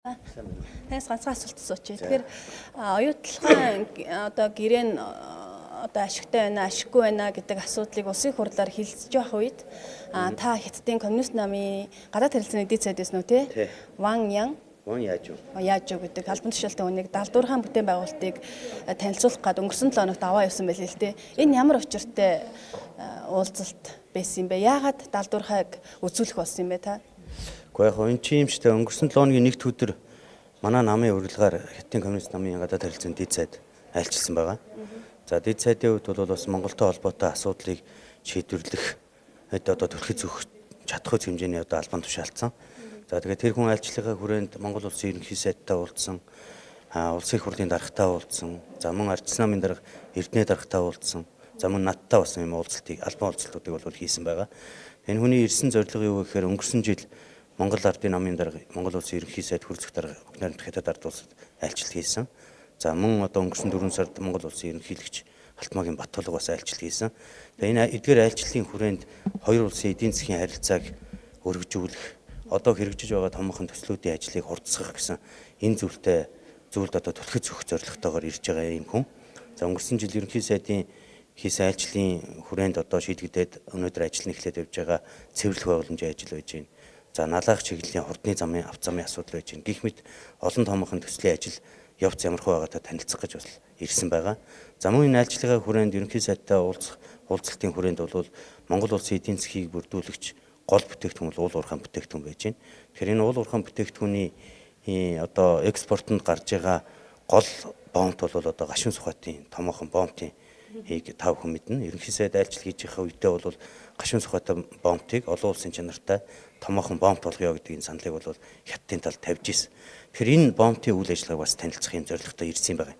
Тэнэс ганцхан асуулт асуучих. Тэгэхээр оюутлахын одоо гэрээ нь одоо ашигтай байна, ашиггүй байна гэдэг асуудлыг улсын хурлаар хэлцэж явах үед та Хятадын коммунист намын гадаад харилцааны эдийн засаг байсан уу тий? Ван Яаж юу гэдэг албан тушаалтай хүнийг далдуурхаан бүтээн байгуулалтыг танилцуулах гээд өнгөрсөн 7 хоногт аваа явсан байл л тий. Энэ ямар учиртай уулзалт байсан юм бэ? Яагаад далдуурхааг үзүүлэх болсон юм бэ та? Гэхдээ яг энэ чи юм штэ өнгөрсөн 7 хоногийн нэгд өдөр манай намын урилгаар Хятадын коммунист намын гадаад харилцааны эдийн засаг айлчилсан байгаа. За эдийн засгийн хувьд бол бас Монголтой холбоотой асуудлыг шийдвэрлэх одоо төлөхөд зөв чадах хэмжээний одоо албан тушаалцсан. За тэгээд тэр хүн айлчлалын хүрээнд Монгол улсын ерөнхий сайдтай уулзсан, улсын хурлын даргатай уулзсан, за мөн ардчилсан намын дарга Эрдэнэ даргатай уулзсан, за мөн надтай бас юм уулзалтыг албан уулзалтуудыг бол хийсэн байгаа. Энэ хүний ирсэн зорилго юу гэхээр өнгөрсөн жил Монгол ардын намын дарга Монгол улсын ерөнхий сайд хүрэлцэх дарга Бүгд Хятад ард улсад айлчлал хийсэн. За мөн одоо өнгөрсөн 4 сард Монгол улсын ерөнхийлөгч Алтмаагийн Баттулга бас айлчлал хийсэн. Тэгээ энэ эдгээр айлчлалын хүрээнд хоёр улсын эдийн засгийн харилцааг өргөжүүлэх, одоо хэрэгжиж байгаа томоохон төслүүдийн ажлыг хурдсгах гэсэн энэ зүйлд одоо төлөхөд зөвөх зорилготойгоор ирж байгаа юм хүн. За өнгөрсөн жил ерөнхий сайдын хийсэн айлчлалын хүрээнд одоо шийдэгдээд өнөөдөр ажил нь эхлээд явж байгаа цэвэрлэх байгууламжийн ажил байж байна. За налаах чиглэлийн хурдны замын авц замын асуудал байж байна. Гэх мэт олон томоохон төслийн ажил явц ямархуу байгаатай танилцах гэж бас ирсэн байгаа. За мөн энэ айлчлагын хүрээнд ерөнхий сайдтай уулзалтын хүрээнд бол Монгол улсын эдийн засгийг бүрдүүлэгч гол бүтээгдэхүүн бол уул уурхайн бүтээгдэхүүн байж байна. Тэгэхээр энэ уул уурхайн бүтээгдэхүүний одоо экспортод гарч байгаа гол боомт бол одоо гашуун сухатын томоохон боомтын хийг тав хүн мэднэ. Ерөнхий сайд айлчлал хийж байгаа үедээ бол гашуун сухатын боомтыг олон улсын чанартай томоохон боомт болгоё гэдэг энэ саналыг бол Хятадын талд тавьж ирсэн. Тэгэхээр энэ боомтын үйл ажиллагааг бас танилцах юм зорилготой ирсэн байгаа.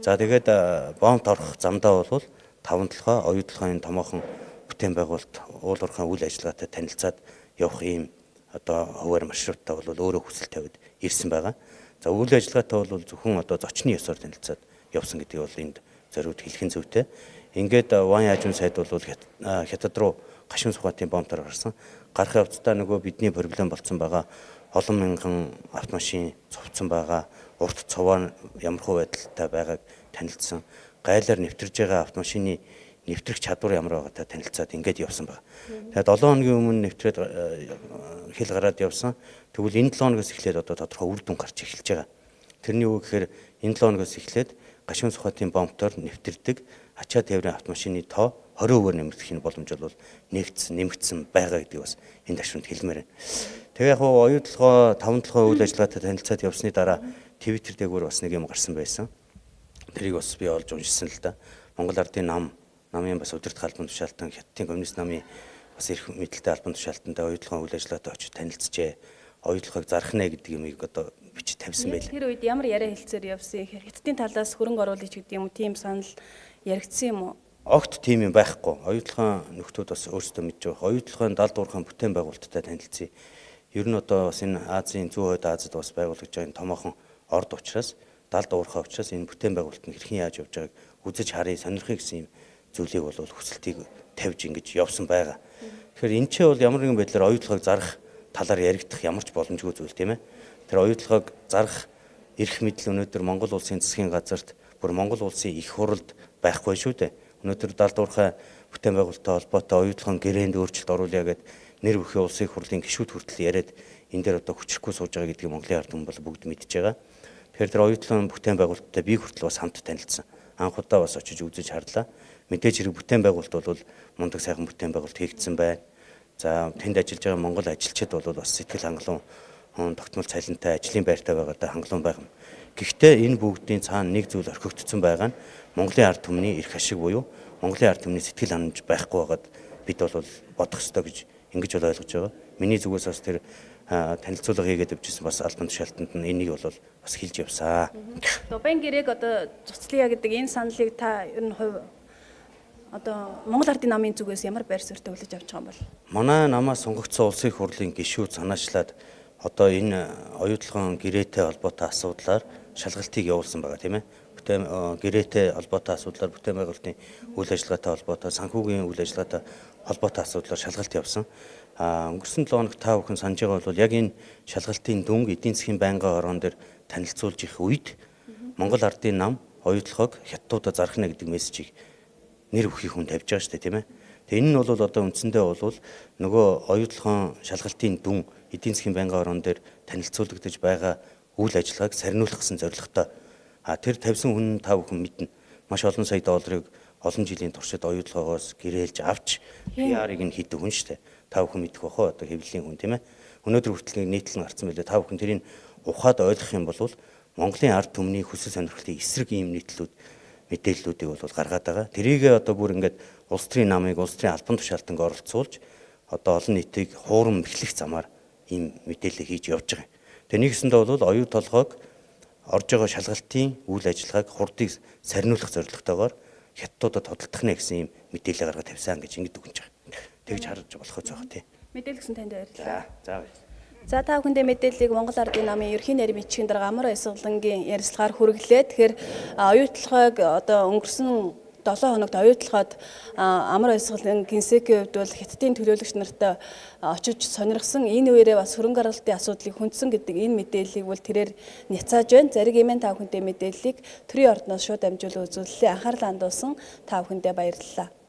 За тэгээд боомт орох замдаа бол 5 толгой оюутлахын томоохон бүтээн байгуулалт уул уурхайн үйл ажиллагаатай танилцаад явах ийм одоо хуваар маршруттай бол өөрөө хүсэл тавиад ирсэн байгаа. За үйл ажиллагаатай бол зөвхөн одоо зочны ёсоор танилцаад явсан гэдгийг бол энд зориуд хэлхэн зүйтэй. Ингээд Ван Яажун сайд бол Хятад руу гашуун сухатын боомтоор гарсан. Гарах явцдаа нөгөө бидний проблем болсон байгаа. Олон мянган автомашин цовцсон байгаа. Урт цовоо ямархуу байдалтай байгааг танилцсан. Гайлаар нэвтэрж байгаа автомашины нэвтрэх чадвар ямар байгаатай танилцаад ингээд явсан байна. Тэгээд 7 хоногийн өмнө нэвтрээд хэл гараад явсан. Тэгвэл энэ 7 хоногоос эхлээд одоо тодорхой үр дүн гарч эхэлж байгаа. Тэрний үг гэхээр энэ 7 хоногоос эхлээд гашуун сухатын боомтоор нэвтэрдэг ачаа тээврийн автомашины тоо 20% нэмэгдэх боломж бол нэмэгдсэн байгаа гэдгийг бас энэ ташуунд хэлмээр байна. Тэгээ яг оюутлогоо 5 толгой үйл ажиллагаатай танилцаад явсны дараа Twitter дээгүүр бас нэг юм гарсан байсан. Тэрийг бас би олж уншсан л да. Монгол ардын намын бас удирдах албан тушаалтан Хятадын коммунист намын бас эрх мэдэлтэй албан тушаалтантай оюутлогын үйл ажиллагаатай очиж танилцжээ. Оюутлогыг зарах нэ гэдэг юмыг одоо бичиж тавьсан байлаа. Тэр үед ямар яриа хэлцээр явсан юм. Хятадын талаас хөрөнгө оруулагч гэдэг юм уу тийм санал яригдсан юм уу? Огт тийм юм байхгүй. Оюутлогын нөхдүүд бас өөрсдөө мэдж байгаа. Оюутлогын далдуурхаан бүтээн байгуулалттай танилцъя. Ер нь одоо бас энэ Азийн зүүн хойд Азид бас байгуулагдж байгаа энэ томоохон орд учраас далдуурхаа учраас энэ бүтээн байгуулалт нь хэрхэн яаж явж байгааг үзэж харъя, сонирхъя гэсэн юм зүйлийг бол хүсэлтийг тавьж ингэж явсан байгаа. Тэгэхээр энэ ч бол ямар нэгэн байдлаар оюутлогыг зарах талаар яригдах ямар ч боломжгүй зүйл тийм ээ. Тэр оюутлогыг зарах эрх мэдэл өнөөдөр Монгол улсын засгийн газарт бүр Монгол улсын их хуралд байхгүй шүү дээ. Өнөөдөр далдуурхай бүтээн байгуулалттай холбоотой оюутлогын гэрээнд өөрчлөлт оруулъя гэд нэр бүхий улсын хурлын гишүүд хүртэл яриад энэ дээр одоо хүчрэхгүй сууж байгаа гэдгийг Монголын ард хүмүүс бол бүгд мэдж байгаа. Тэгэхээр тэр оюутлогын бүтээн байгуулалттай би хүртэл бас хамт танилцсан. Анх удаа бас очиж үзэж харлаа. Мэдээж хэрэг бүтээн байгуулалт бол мундаг сайхан бүтээн байгуулалт хийгдсэн байна. За тэнд ажиллаж байгаа монгол ажилчид бол бас сэтгэл хангалуун тогтмол цалинтай ажлын байртай байгаадаа хангалуун байгаа юм. Гэхдээ энэ бүгдийн цаана нэг зүйл орхигдсон байгаа нь Монголын ард түмний эрх ашиг буюу Монголын ард түмний сэтгэл ханамж байхгүй байгаад бид бол бодох ёстой гэж ингэж бол ойлгож байгаа. Миний зүгээс бас тэр танилцуулга хийгээд явжсэн бас албан тушаалтанд нь энийг бол бас хэлж явсаа. Дубайн гэрээг одоо цуцлая гэдэг энэ саналыг та ер нь хувь одоо Монгол ардын намын зүгээс ямар байр суурьтай хүлээж авч байгаа юм бол? Манай намаас сонгогдсон улсын хурлын гишүүд санаачлаад одоо энэ оюутлогын гэрээтэй холбоотой асуудлаар шалгалтыг явуулсан байгаа тийм ээ. Бүтээн гэрээтэй холбоотой асуудлаар бүтээн байгуулалтын үйл ажиллагаатай холбоотой санхүүгийн үйл ажиллагаатай холбоотой асуудлаар шалгалт явсан. Өнгөрсөн 7 хоног та бүхэн санаж байгаа бол яг энэ шалгалтын дүнг эдийн засгийн байнгын орон дээр танилцуулж их үед Монгол ардын нам оюутлогыг хятадуудад зархна гэдэг мессежийг нэр өгөх хүн тавьж байгаа шүү дээ, тийм ээ. Тэгээ энэ нь бол одоо үндсэндээ бол нөгөө оюутлогын шалгалтын дүн эдийн засгийн байнгын орон дээр танилцуулагдаж байгаа үйл ажиллагааг сарниулах гэсэн зорилготой. Тэр тавьсан хүн та бүхэн мэднэ. Маш олон сая долларыг олон жилийн туршид оюутлогоос гэрээлж авч PR-ыг нь хийдэг хүн шүү дээ. Та бүхэн мэдэх бахаа одоо хэвлэлийн хүн, тийм ээ. Өнөөдөр хүртэл нийтлэн гарсан байлээ. Та бүхэн тэрийг ухаад ойлгох юм бол Монголын ард түмний хүсэл сонирхлын эсрэг ийм мэдээллүүдийг бол гаргаад байгаа. Тэрийг одоо бүр ингээд улс төрийн намыг улс төрийн албан тушаалтанд оролцуулж одоо олон нийтийг хуурам эхлэх замаар ийм мэдээлэл хийж явж байгаа юм. Тэгээ нэгсэндээ бол оюу толгойг орж байгаа шалгалтын үйл ажиллагааг хурдыг сарниулах зорилготойгоор хятадуудад тодтолдохнэ гэсэн ийм мэдээлэл гаргаад тавьсан гэж ингэж дүгнэж байгаа. Тэгж харж болох зөөх тий. Мэдээлэл гэсэн танд баярлалаа. За. За та бүхэндээ мэдээллийг Монгол Ардын намын ерхий нарийн бичгийн дарга Амар Баясгалангийн ярилцлагаар хүргэлээ. Тэгэхээр оюутлогыг одоо өнгөрсөн 7 хоногт оюутлогод Амар Баясгалан гинсекийн хувьд бол хятадын төлөөлөгч нартай очиж сонирхсан. Энэ үеэрээ бас хөрөнгө оруулалтын асуудлыг хүндсэн гэдэг энэ мэдээллийг бол тэрээр няцааж байна. Зариг эмэн та бүхэндээ мэдээллийг төрийн ордноос шууд дамжуулан үзүүллээ. Анхаарлаа хандуулсан та бүхэндээ баярлалаа.